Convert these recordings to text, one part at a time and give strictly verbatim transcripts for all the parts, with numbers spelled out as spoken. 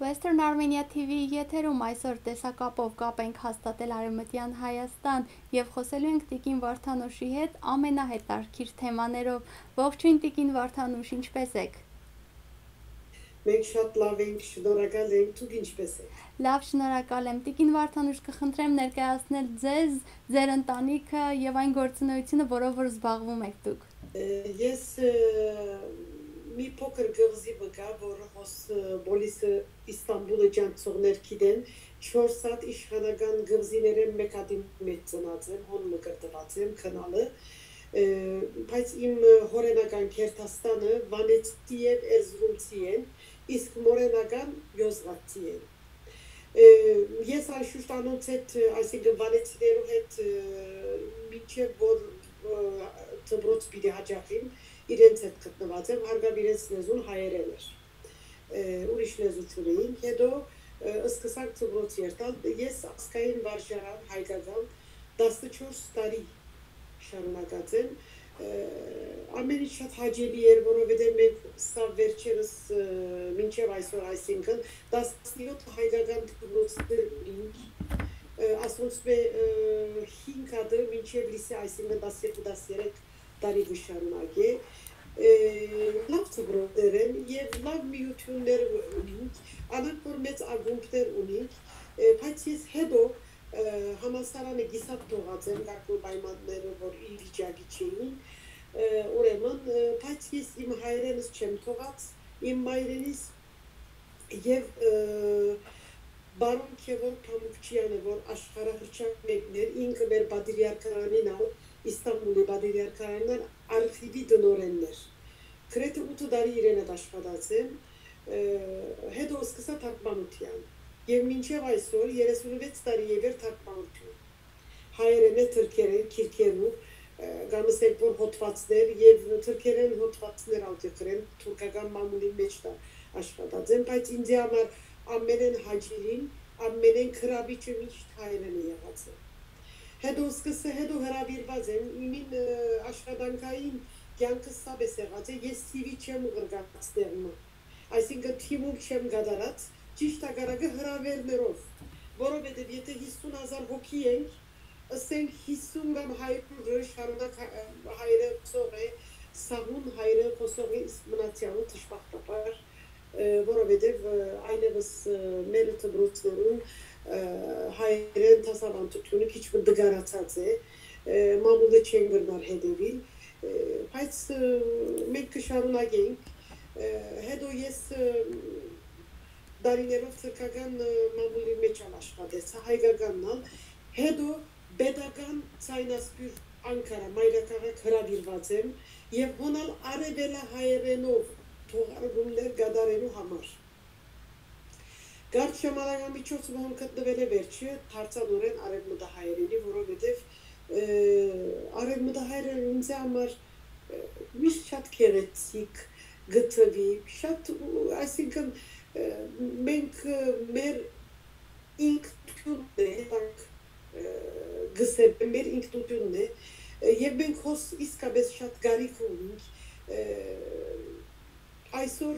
Western Armenia T V-ի եթերում այսօր տեսակապով կապ ենք հաստատել Արեւմտեան Հայաստան եւ խոսելու ենք տիկին Վարդանուշի հետ ամենահետաքրքիր թեմաներով։ Ողջույն, տիկին Վարդանուշ, ինչպե՞ս եք։ Մենք շատ լավ ենք, շնորհակալ ենք, դուք ինչպե՞ս եք։ Լավ, շնորհակալ եմ։ Տիկին Վարդանուշ, կխնդրեմ ներկայացնել ձեզ, ձեր ընտանիքը եւ այն գործունեությունը, որով որ զբաղվում եք դուք։ Ը, ես, ը, մի փոքր կղզի մը կայ, որ հոս, ը, Պոլիսը Իստանբուլը ճանչցողներ գիտեն, չորս հատ իշխանական կղզիներէն մէկ հատին մէջ ծնած եմ, հոն մը կրթուած եմ, քնալը, ը, բայց իմ, ը, հօրենական Գերդաստանը վանեցի եւ էրզրումցի են, իսկ մօրենական յոզղացի են։ Ը, ես անշուշտ անոնց հետ, ը, այսինքն վանեցիներու հետ, ը, մինչեւ որ, ը, դպրոց պիտի յաճախիմ, իրենց հետ գտնուած եմ, հարգաւ իրենց լեզուն հայերէն էր։ Ը, ուրիշ լեզու չունեինք, հետո, ը, սկսանք դպրոց երթալ, ես ազգային վարժարան հայկական տասնչորս տարի շարունակած եմ։ Ը, ամեն ինչ շատ հաճելի էր, որովհետեւ մենք սա վերջերս, ը, մինչեւ այսօր, այսինքն տասնյոթ հայկական դպրոցներ ունենք, ը, ասոնցմէ, ը, հինգ հատը մինչեւ լիսէ, այսինքն տասներկու, տասներեք տարի կը շարունակէ։ Ը, լավ դպրոցներ են եւ լավ միութիւններ ունենք, անոնք որ մեծ ակումբներ ունենք, ը, բայց ես հետո, ը, համալսարանը կիսատ թողած եմ, կարգ մը պայմաններով, որ ի վիճակի չէին, ը, ուրեմն, ը, բայց ես իմ հայրենս չեմ թողած, իմ մայրենիս եւ, ը, պարոն Գեւորգ Փամուկչեանը, որ աշխարհահռչակ մեկն էր, ինքը մեր պատրիարքարանին ալ, Իստանբուլի պատրիարքարանին ալ արխիվի տնօրենն էր։ Գրեթէ ութ տարի իրեն հետ աշխատած եմ, ը, հետո սկսա թարգմանութեան։ Եւ մինչեւ այսօր, երեսունվեց տարի է վեր թարգմանութիւն։ Հայերէնէ թրքերէն գիրքերու, ը, կամ ասենք որ հոդվածներ եւ թրքերէն հոդվածներ ալ կը գրեմ, թուրքական մամուլին մէջ տա աշխատած եմ, բայց ինձի համար ամենէն հաճելին, ամենէն գրավիչը միշտ հայերէնը եղած է։ Հետո սկսը, հետո հրավիրված եմ, իմին, ը, աշխատանքային կյանքը սա պէս եղած է, ես C V չեմ ղրկած տեղ մը։ Այսինքն թիմում չեմ կատարած, ճիշտ հակառակը հրավերներով, որովհետեւ եթե հիսուն հազար հոգի ենք, ըսենք հիսուն կամ հարիւրը շարունակ հայ-, հայերէ ուսող է, սահուն հայերէ ուսող է, իսկ մնացեալը դժբախտաբար, ը, որովհետեւ, ը, այլեւս, ը, մեր դպրոցներուն, ը, հայերէն դասաւանդութիւնը քիչ մը դգարացած է, ը, մամուլը չեն կրնար հետեւիլ, ը, բայց, ը, մենք կը շարունակենք, ը, հետո ես, ը, տարիներով թրքական, ը, մամուլի մէջ ալ աշխատեցայ, հայկականն ալ, հետո պետական ցայնասփիւռ Անկարա, մայրաքաղաք հրավիրված եմ եւ հոն ալ արեւելահայերէնով թողարկումներ կատարելու համար։ Կարճ ժամանակամիջոցը, որ գտնվել է վերջը, դարձա նորէն արեւմտահայերենի, որովհետեւ, ը, արեւմտահայերեն ինձ համար, ը, միշտ շատ գեղեցիկ գտվի, շատ, ը, այսինքն, ը, մենք, ը, մեր ինքնությունն է, ը, գսե, մեր ինքնությունն է, ը, եւ մենք հոս իսկապես շատ կարիքը ունենք, ը, այսօր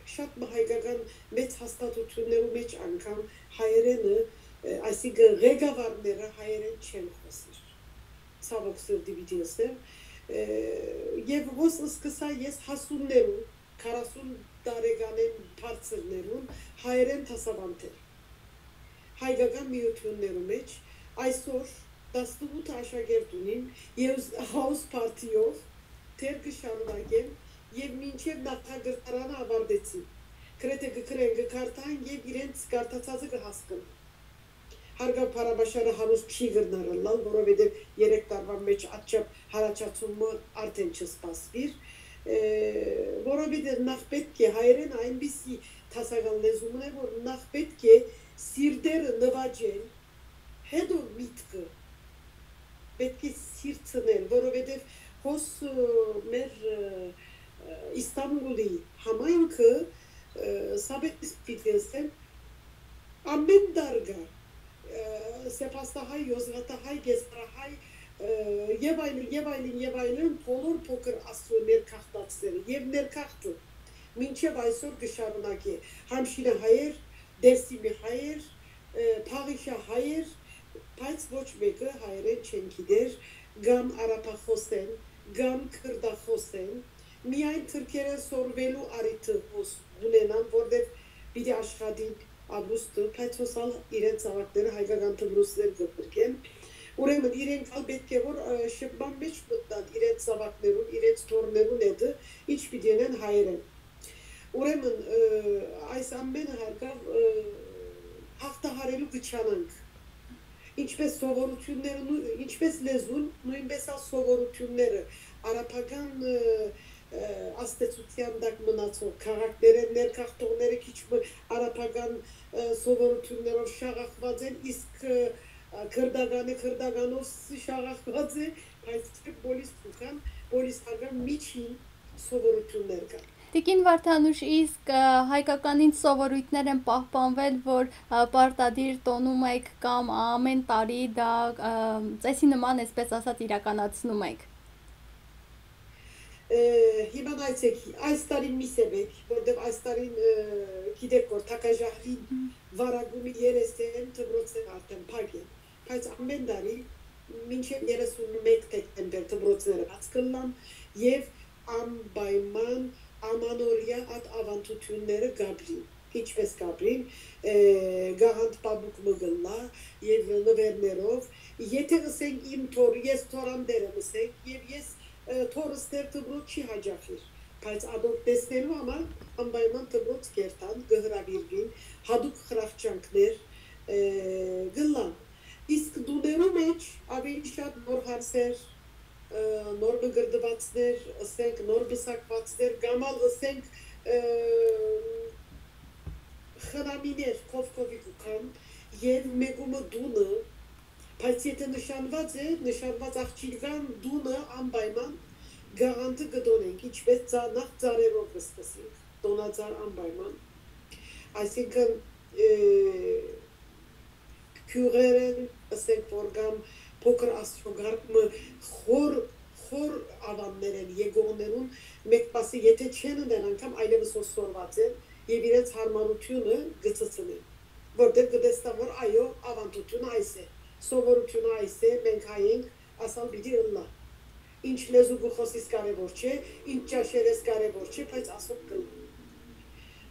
շատ մը հայկական մեծ հաստատություններու մէջ անգամ հայերէնը, ը, այսինքն ղեկավարները հայերէն չեն խօսեր։ Ցաւոք սրտի պիտի ըսեմ, ը, եւ հոս սկսայ ես հասուններուն, քառասուն տարեկանէն բարձրներուն հայերէն դասաւանդել հայկական միութիւններու մէջ, այսօր տասնութ աշակերտ ունիմ եւ house party-ով դեռ կը շարունակեմ եւ մինչեւ նախակրթարանը ավարտեցի։ Գրեթէ կը գրեն, կը կարդան եւ իրենց կարդացածը կը հասկնան։ Հարգաւ Փարաբաշարը հարուստ չի կրնար ըլլալ, որովհետեւ երեք տարուան մէջ ատչափ յառաջացումը արդէն չսպասուիր, ը, որովհետեւ նախ պէտք է հայերէնը այնպիսի դասական լեզու մնայ, որ նախ պէտք է սիրտերը նուաճել, հետո միտքը պէտք է սիրցնել, որովհետեւ հոս, ը, մեր, ը, ը, Իստանբուլի համայնքը, ը, սա պէտք է պիտի ըսեմ, ամեն դար կայ, ը, սեպաստահայ, յոզղատահայ, գեսարահայ, ը, եւ այլն, եւ այլն, եւ այլն, բոլոր փոքր Աստուծոյ ներգաղթածները եւ ներգաղթը մինչեւ այսօր կը շարունակէ։ Համշինահայեր, Դերսիմի հայեր, ը, Փաղիշա հայեր, բայց ոչ մէկը հայերէն չեն գիտեր, կամ արաբախոս են, կամ քրդախոս են, միայն թրքերէն սորվելու առիթը հոս կունենան, որտեւ պիտի աշխատին ապրուստը, բայց հոս ալ իրենց զաւակները հայկական դպրոցներ կը փրկեն։ Ուրեմն իրենք ալ պէտք է որ, ը, շփման մէջ մտնան իրենց զաւակներուն, իրենց թոռներուն հետը, ինչ պիտի ընեն հայերէն։ Ուրեմն, ը, այս ամենը հարկաւ, ը, հաղթահարելու կը չանանք։ Ինչպես սովորութիւնները, նո-, ինչպես լեզուն, նոյնպես ալ սովորութիւնները, արաբական, ը, ը, ազդեցութեան տակ մնացող քաղաքներէն ներգաղթողները քիչ մը արաբական, ը, սովորութիւններով շաղախուած են, իսկ, ը, քրդականը քրդականով ս-, շաղախուած է, բայց պոլիս կան, պոլիսական միջին սովորութիւններ կան։ Տիկին Վարդանուշ, իսկ, ը, հայկականին սովորույթներ են պահպանվել, որ, ը, պարտադիր տոնում եք կամ ամեն տարի դա, ը, ծեսի նման, այսպես ասած, իրականացնում եք։ Ը, հիմա նայեցեք, այս տարի մի սեւեք, որտեւ այս տարին, ը, գիտեք որ թակաժահրին վարակումի երեսեն դպրոցները արդեն փակ են, բայց ամեն տարի մինչեւ երեսունմէկ դեկտեմբեր դպրոցները բաց կլան եւ անպայման ամանորեայ այդ աւանդութիւնները կապրին, ինչպես կապրին, ը, գաղանդ պապուկ մը կլլայ եւ նուէրներով, եթե ըսենք իմ թոր, ես թորան դեր եմ ըսենք, եւ ես, ը, թորս դեր դպրոց չի յաճախիր, բայց ատոր տեսնելու համար անպայման դպրոց կերթան, կը հրաւիրուին, յատուկ խրախճանքներ, ը, կլան։ Իսկ տուներու մէջ աւելի շատ նոր հարսեր, ը, նոր մկրտուածներ, ըսենք նոր պսակուածներ, կամ ալ ըսենք, ը, խնամիներ քովքովի կու գան եւ մեկումը տունը, բայց եթե նշանուած է, նշանուած աղջիկան տունը անպայման գաղանդը կը տոնենք, ինչպես ծա-, նախ ծառերով կը սկսենք, տոնածառ անպայման։ Այսինքն, ը, գիւղերէն, ըսենք որ կամ փոքր աստղագարկ մը խոր, խոր աւաններէն եկողներուն մէկ մասը, եթե չեն ընեն անգամ, այլեւս հոս սորված են եւ իրենց յարմարութիւնը կը ցցնեն, որտեղ կը տեսնան որ այո, աւանդութիւնը այս է, սովորութիւնը այս է, մենք հայ ենք, ասալ պիտի ըլլայ։ Ինչ լեզու կը խօսիս կարեւոր չէ, ինչ ճաշեր ես կարեւոր չէ, բայց ասոնք կլան։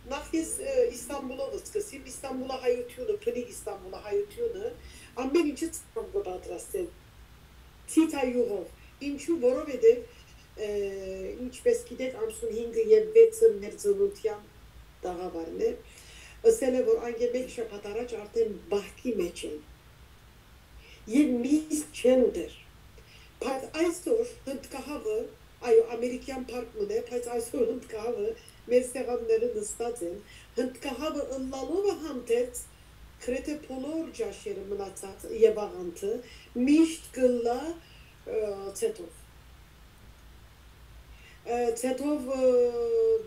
Նախ ես, ը, Իստանբուլով սկսեմ, Իստանբուլահայութիւնը, բնիկ Իստանբուլահայութիւնը, ամեն ինչը ծառով կը պատրաստեն, ցիթայյուղով։ Ինչու, որովհետեւ, ը, ինչպես գիտեք, ամսունհինգը եւ վեցը մեր ծննդեան տաղաւարն է, ըսել է որ անկէ մէկ շաբաթ առաջ արդեն պահքի մէջ են եւ միս չեն ուտեր։ Բայց այսօր հնդկահաւը, այո, ամերիկեան փառք մըն է, բայց այսօր հնդկահաւը մեր սեղանները նստած են, հնդկահաւը ըլլալովը հանդերձ, գրեթէ բոլոր ճաշերը մնացած եւ աղանդը միշտ կլլայ, ը, ցեթով։ Ը, ցեթով, ը,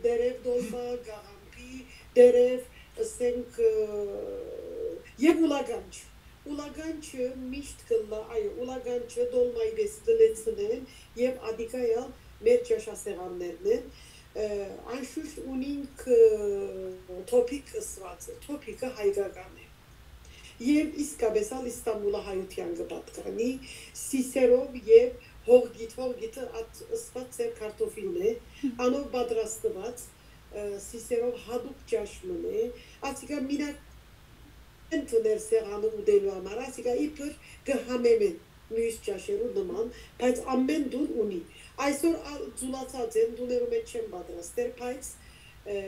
դերեւ դոլմա, գաղամբի դերեւ, ըսենք, ը, եւ ուլագանջ։ Ուլագանջը միշտ կլլայ, այո, ուլագանջը դոլմայի պես կլեցնեն եւ ատիկայալ մեր ճաշասեղաններն են։ Ը, անշուշտ ունինք, ը, թոփիկ ըսուածը, թոփիկը հայկական է։ Եւ իսկապես ալ Իստանբուլը հայութեան կը պատկանի, սիսերով եւ հողգիթ, հողգիթը ատ ըսված ձեր կարտոֆիլն է, անով պատրաստված, ը, սիսերով յատուկ ճաշ մըն է, ասիկա մինակ են դներ սեղանը ուտելու համար, ասիկա իբր կը համեմեն մյուս ճաշերու նման, բայց ամեն տուն ունի։ Այսօր ալ ձուլացած են, տուներու մեջ չեն պատրաստեր, բայց, ը,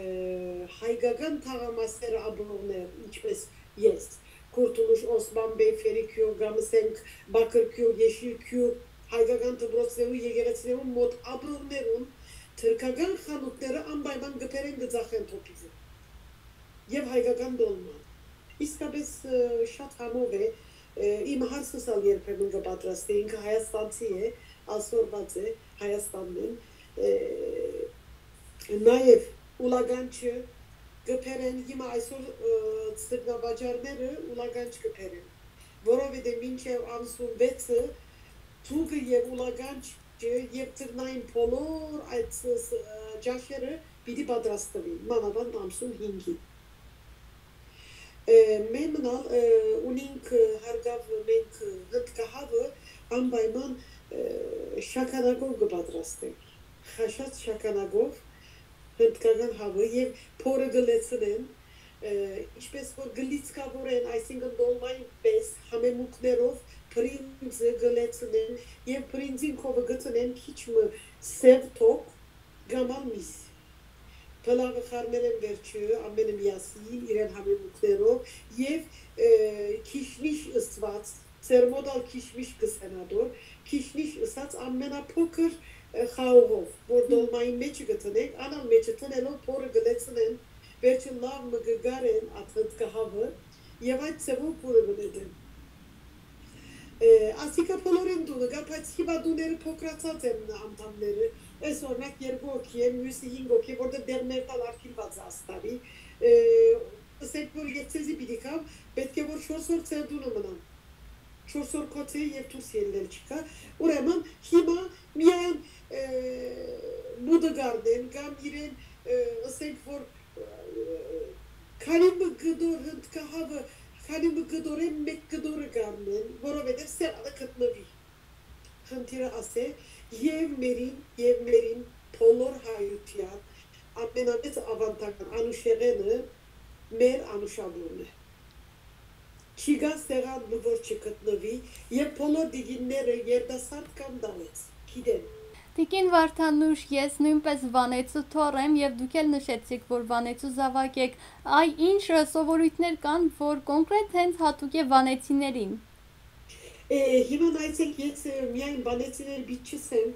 հայկական թաղամասերը ապրողներ, ինչպես ես, Քուրթուլուշ Օսման Բեյ Ֆերիքիո, կամ ըսենք Բաքրքիո, Եշիլքիո, հայկական դպրոցներու, եկեղեցիներու մոտ ապրողներուն թրքական խանութները անպայման կը բերեն, կը ծախեն թոփիկը եւ հայկական դոլման։ Իսկապես, ը, շատ համով է, ը, իմ հարսս ալ երբեմն կը պատրաստի, ինքը հայաստանցի է, ալ սորված է Հայաստանն են, ը, նաեւ ուլագանչը կը բերեն, հիմա այսօր, ը, ձկնավաճառները ուլագանչ կը բերեն, որովհետեւ մինչեւ ամսուն վեցը թուկը եւ ուլագանչը եւ ձկնային բոլոր այդ ս-, ս-, ը, ճաշերը պիտի պատրաստվին, մանավանդ ամսուն հինգին։ Է, մեն մնալ, է, ունինք, է, հարգաւ մենք, է, հնդկահաւը անպայման, է, շագանակով կը պատրաստենք։ Խաշած շագանակով հնդկական հաւը եւ փորը կը լեցնեն, է, ինչպես որ կը լիցքաւորեն, այսինքն դոլմայի պէս, համեմունքներով փրինձը կը լեցնեն եւ փրինձին քովը գտնեն քիչ մը սեւ թոք կամ ալ միս։ Փլաւը խառնել են վերջը, ամենը միասին, իրեն համեմունքներով եւ, է, քիշնիշ ըսուած, ձեր մոտ ալ քիշմիշ կը սենատոր, քիշնիշ ըսած ամենափոքր, է, խաղողով, որ դոլմային մեջը կը տնենք, անալ մեջը տնելով փորը կը լեցնեն, վերջը լաւ մը կը գարեն ատ հնդկահաւը եւ այդ ձեւով փորը կը նետեն։ Է, ասիկա բոլորին տունը կայ, բայց հիմա տուները փոքրացած են անդամները։ Այս օրինակ երկու հոգի են, մյուսը հինգ հոգի է, որտեղ դեղ մերտալ արգիլված է աստարի։ Է, ըսենք որ ես ձեզի պիտի գամ, պէտք է որ չորս օր ձեր տունը մնամ։ Չորս օր քոց է եւ դուրս ելնել չկայ։ Ուրեմն հիմա միայն, է, մուտը գարնեն կամ իրեն, է, ըսենք որ, է, քանի մը կտոր հնդկահաւը, քանի մը կտորեն մէկ կտորը գարնեն, որովհետեւ սեղանը գտնուի։ Խնդիրը ասէ, եւ մերին, եւ մերին բոլոր հայութեան ամենամեծ աւանդական անուշեղէնը մեր անուշաբուրն է։ Չի գա սեղան մը որ չգտնուի, եւ բոլոր տիկինները երիտասարդ կամ դալեց, գիտեն։ Տիկին Վարդանուշ, ես նոյնպէս Վանեցու թոռ եմ եւ դուք էլ նշեցիք, որ Վանեցու զաւակ էք։ Այ ինչ սովորույթներ կան, որ կոնկրետ հենց յատուկ է վանեցիներին։ Է, հիմա նայեցեք, ես, է, միայն Վանեցիներ պիտի չըսեմ,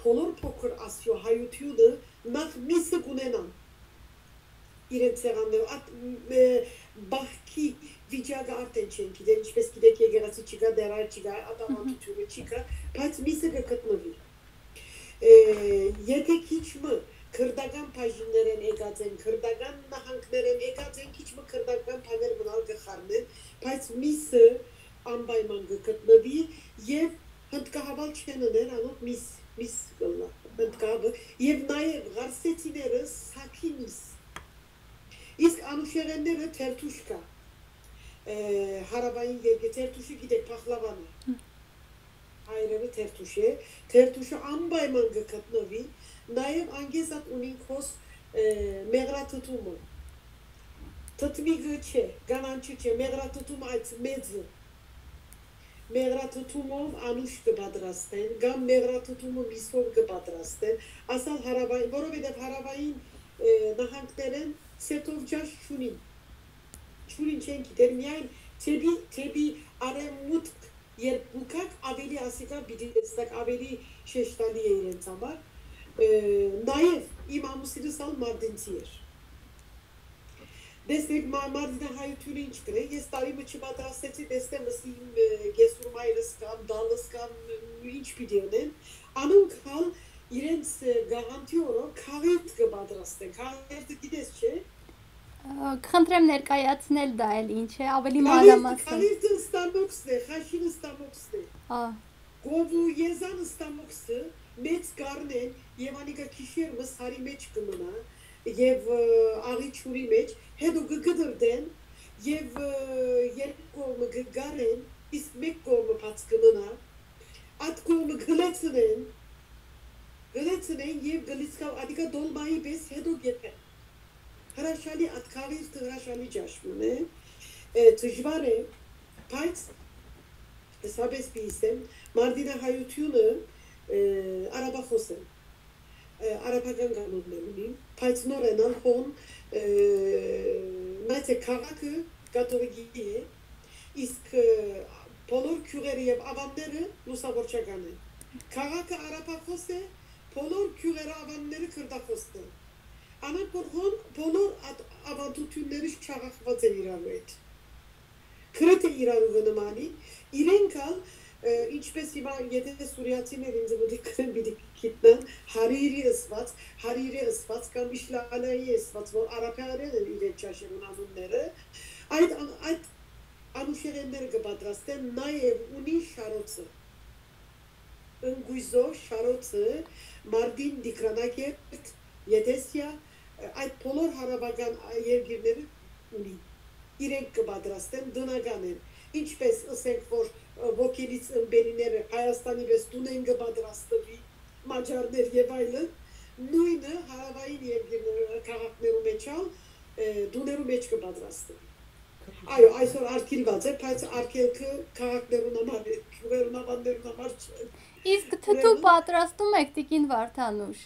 բոլոր փոքր Ասիոյ հայութիւնը նախ միսը կունենան իրենց սեղաններով։ Ատ, մ, է, բահքի վիճակը արդեն չեն գիտեր, ինչպես գիտեք, եկեղեցի չկայ, դեռ այլ չկայ, ատավանդութիւնը չկայ, բայց միսը կը գտնուի։ Է, եթե քիչ մը քրտական բաժիններէն եկած են, քրտական նահանգներէն եկած են, քիչ մը քրտական բաներ մնալ կը խառնեն, բայց միսը անպայման կը գտնուի եւ հնդկահաւալ չեն ըներ, անոնք միս, միս կ'ըլլայ, հնդկահաւը, եւ նաեւ ղարսեցիները սակի միս։ Իսկ անուշեղէնները թերթուշ կայ, է, հարաւային երկրի թերթուշը, գիտեք, փախլավան է։ Հայրերը թերթուշ է, թերթուշը անպայման կը գտնուի, նաեւ անգեզատ ունին քոս, է, մեղրաթթումը։ Թթմիկը չէ, կանանչը չէ, մեղրաթթումը այդ մեծը։ Մեղրաթթումով անուշ կը պատրաստեն, կամ մեղրաթթումը միսով կը պատրաստեն, ասալ հարավային, որովհետեւ հարավային, է, նահանգներէն սեթով ճաշ չունին, չունին, չեն գիտեր, միայն թեպի, թեպի արևմուտք, երբ կու գաք, ավելի ասիկա պիտի տեսնաք, ավելի շեշտալի է իրենց համար։ Է, նաեւ իմ ամուսինս ալ մարտինցի էր։ Տեսնեք, մա-, մարտինահայութիւնը ինչ կրէ, ես տարի մը չպատրաստեցի, տեսնեմ, ըսի իմ, է, կեսուր մայրս կամ դալս կամ ինչ պիտի ընեն, անոնք ալ իրենց, է, գաղանդի օրը քաղերթ կը պատրաստեն, քաղերթը գիտես, չէ՞։ Ա, կխնդրեմ ներկայացնել դա էլ ինչ է, ավելի Կալիրտ, մանրամասն։ Կալիրտը ստամոքսն է, խաշին ստամոքսն է։ Ա։ Գովու եզան ստամոքսը մեծ կառնեն եւ անիկա գիշեր մը սարի մեջ կը մնա եւ, ը, աղի ջուրի մեջ, հետո կը կտրտեն եւ, ը, երկու կողմը կը գարեն, իսկ մէկ կողմը բաց կը մնա, այդ կողմը կը լեցնեն, կը լեցնեն եւ կը լիցքաւ, անիկա դոլմայի պես հետո կեփեն։ Հրաշալի ատքաղիրդը, հրաշալի ճաշ մը է, է, դժուար է, բայց հեսաբես պի իսեմ, մարտինահայութիւնը, է, արաբախոս են, է, արաբական կանոններ ունին, բայց նոր են ան հոն, է, նայեցեք, քաղաքը կաթողիկի է, իսկ, է, բոլոր գիւղերը եւ աւանները լուսավորչական են։ Քաղաքը արաբախոս է, բոլոր գիւղերը, աւանները քրտախոս են։ Անոնք որ հոն բոլոր ատ-, աւանդութիւնները շաղախուած են իրարու հետ։ Գրեթէ իրարու կը նմանի, իրենք ալ, ը, ինչպես հիմա, եթե սուրիացիներ ինձ մտիկ կրեն, պիտի գիտնան, հարիրի ըսված, հարիրի ըսված կամ իշլալայի ըսված, որ արաբերեն են իրենց ճաշերուն անունները, այդ ան-, այդ անուշեղէնները կը պատրաստեն, նաեւ ունի շարոցը։ Ընկոյզո շարոցը, Մարտին, Տիգրանակերտ, Եդեսիա, այդ բոլոր հարաւական երկիրները ունի։ իրենք կը պատրաստեն, տնական են։ Ինչպես ըսենք, որ, ը, ոգելից ըմպելիները Հայաստանի պէս տունէն կը պատրաստուի, մաճարներ եւ այլն, նոյնը հարաւային երկիր, ը, քաղաքներու մեջ ալ, ը, տուներու մեջ կը պատրաստուի։ Այո, այսօր արգիլուած է, բայց արգելքը քաղաքներուն համար է, գիւղերուն, աւաններուն համար չէ։ Իսկ թթու Ուրեմն պատրաստում եք, տիկին Վարդանուշ։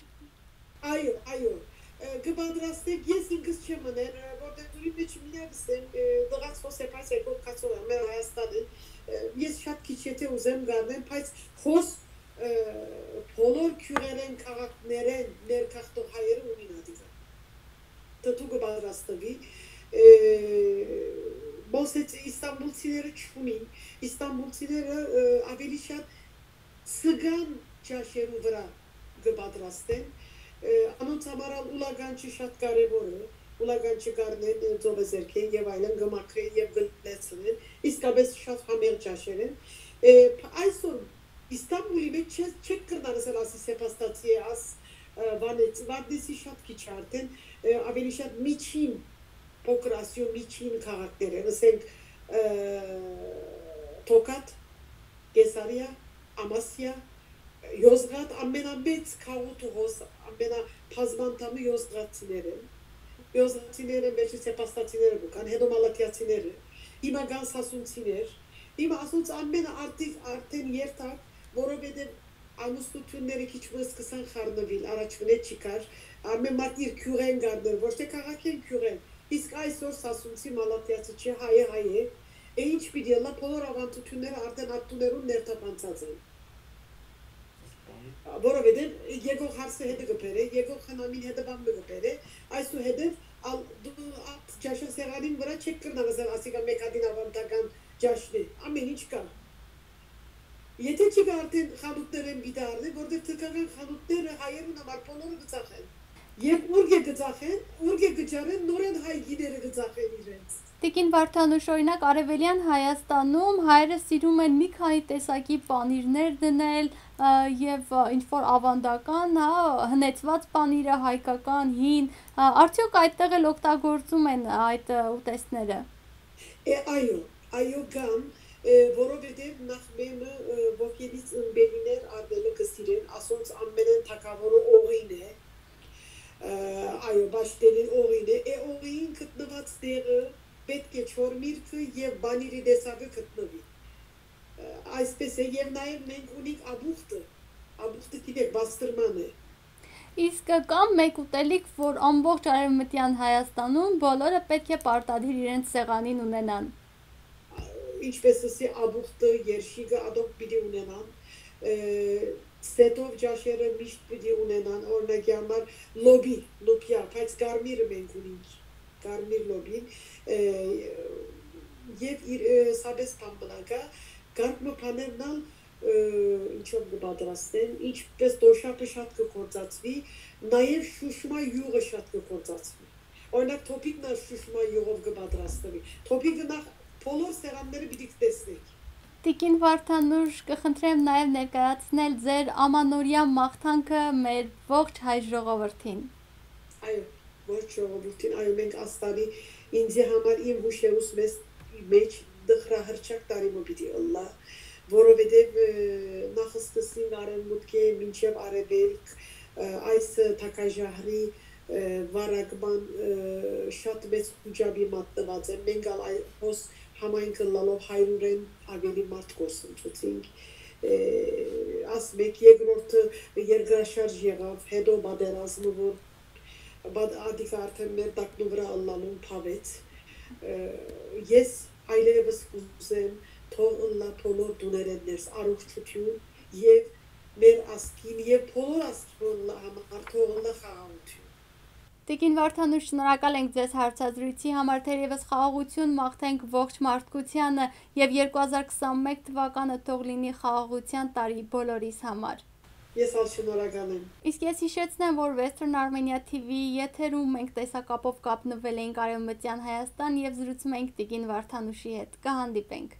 Այո, այո, ը, կը պատրաստենք, ես ինքս չեմ մներ, ը, որտեղ դուրի մեջ միակ սեմ, ը, դղած հոս է, բայց եկող կացող է, մեր Հայաստանը, ը, ես շատ քիչ եթե ուզեմ գարնեմ, բայց հոս, ը, բոլոր գիւղերեն, քաղաքներեն մեր գաղթող հայերը ունին ատիկա։ Թթու կը պատրաստվի, ը, մոս հետ Իստանբուլցիները չունին, Իստանբուլցիները, ը, ավելի շատ սգան ճաշերու վրա կը պատրաստեն։ Ը, անոնց համար ալ ուլագանչը շատ կարեւոր է, ուլագանչը գարնեն, ը, ծովեզերքեն եւ այլն կը մաքրեն եւ կը լեցնեն, իսկապէս շատ համեղ ճաշեր են։ Ը, փ-, այսօր Իստանբուլի մեջ չե-, չեք կրնար ասել, ասի սեպաստացի է, աս, ը, վանեց, վարդեսի շատ քիչ է արդեն, ը, ավելի շատ միջին, փոքր Ասիոյ միջին քաղաքներ են, ասենք, ը, Թոքատ, Կեսարիա, Ամասիա, Յոզգատ, ամենամեծ քաղուտը հոս, ամենաբազմանդամը յոզգատցիներ են։ Յոզգատցիները վերջը սեպաստացիները կու կան, հետո մալաթիացիները, հիմա կան սասունցիներ։ Հիմա ասոնց ամենը արդի-, արդեն երթակ, որովհետեւ ամուսնութիւնները քիչ մը սկսան խառնուիլ, առաջվնէ չի կար, ամեն մարդ իր գիւղէն գարներ, ոչ թե քաղաքէն գիւղէն, իսկ այսօր սասունցի մալաթիացի չէ, հայը հայ է, է ինչ պիտի ըլլայ, բոլոր աւանդութիւնները արդեն ատտուներուն ներթափանցած են։ Որովհետեւ եկող հարսը հետը կը բերէ, եկող խնամին հետը բան մը կը բերէ, այսուհետեւ ալ-, դու ատ ճաշասեղանին վրա չեք կրնար ասել, ասիկա մէկ հատին աւանդական ճաշն է, ամեն ինչ կա։ Եթե չի կա, արդեն խանութներէն պիտի առնեն, որտեղ թրքական խանութները հայերուն համար բոլորը կը ծախեն։ Եւ ուրկէ կը ծախեն, ուրկէ կը ջարեն, նորեն հայ գիները կը ծախեն իրենց։ Տիկին Վարդանուշ, օրինակ, Արեւելեան Հայաստանում հայերը սիրում են մի քանի տեսակի պանիրներ դնել, ը, եւ, ը, ինչ որ աւանդական, հա, հնեցուած պանիրը, հայկական, հին, ը, արդեօք այդտեղ էլ օգտագործում են այդ, ը, ուտեստները։ Է, այո, այո, կան, ը, որովհետեւ նախ մեմը, ը, ոգելից ըմպելիներ առնելը կը սիրեն, ասոնց ամենէն թագաւորը օղին է, ը, այո, պաշտենին օղին է, է, օղին գտնուած տեղը պէտք է չոր միրգը եւ պանիրի տեսակը գտնուի։ Ը, այսպես է, եւ նաեւ մենք ունենք աբուխտը, աբուխտը գիտեք, պաստրման է։ Իսկ կա՞ մէկ ուտելիք, որ ամբողջ Արեւմտեան Հայաստանում բոլորը պէտք է պարտադիր իրենց սեղանին ունենան։ Ինչպես ըսի, աբուխտը, երշիկը, ադոնք պիտի ունենան, ը, սեթով ճաշերը միշտ պիտի ունենան, օրինակի համար լոբի, լուպիա, բայց կարմիրը մենք ունենք, կարմիր լոբին, ը, եւ իր, ը, սաբես բան մնա կայ, կարգ մը բաներն ալ, ը, ինչով կը պատրաստեն, ինչպես տոշապը շատ կը գործածուի, նաեւ շուշմա յուղը շատ կը գործածուի։ Օրինակ, թոփիկն ալ շուշմա յուղով կը պատրաստուի։ Թոփիկը նախ բոլոր սեղանները պիտի տեսնենք։ Տիկին Վարդանուշ, կը խնդրեմ նաեւ ներկայացնել ձեր ամանորեայ մաղթանքը մեր ողջ հայ ժողովրդին։ Այո, ողջ ժողովուրդին, այո, մենք Աստարի, ինձի համար իմ հուշերուս մեզ, մեջ տխրահռչակ տարի մը պիտի ըլլայ, որովհետև, ը, նախ սկսին արևմուտքէ մինչև արևելք, ը, այս թագաժահրի, ը, վարակման, ը, շատ մեծ խուճապի մատնված է։ Մենք ալ այ-, հոս համայնք ըլլալով հարիւրէն ավելի մարդ կորսնցուցինք։ Ը, ասմեք, երկրորդը երկրաշարժ եղավ, հետո պատերազմը, որ բա-, ադիկը արդեն մեր տակնու վրա ըլլալուն բավեց։ Ը, ես այլևս կուզեմ, թող ըլլայ բոլոր տուներէն ներս առողջութիւն եւ մեր ազգին եւ բոլոր ազգին ըլլայ համար թող ըլլայ խաղաղութիւն։ Տիկին Վարդանուշ, շնորհակալ ենք ձեզ հարցազրույցի համար, թերևս խաղաղություն մաղթենք ողջ մարդկությանը եւ երկու հազար քսանմեկ թվականը թող լինի խաղաղության տարի բոլորիս համար։ Ես ալ շնորհակալ եմ։ Իսկ ես հիշեցնեմ, որ Western Armenia T V եթերում մենք տեսակապով կապնվել էինք Արևմտյան Հայաստան եւ զրուցում էինք տիկին Վարդանուշի հետ։ Կհանդիպենք։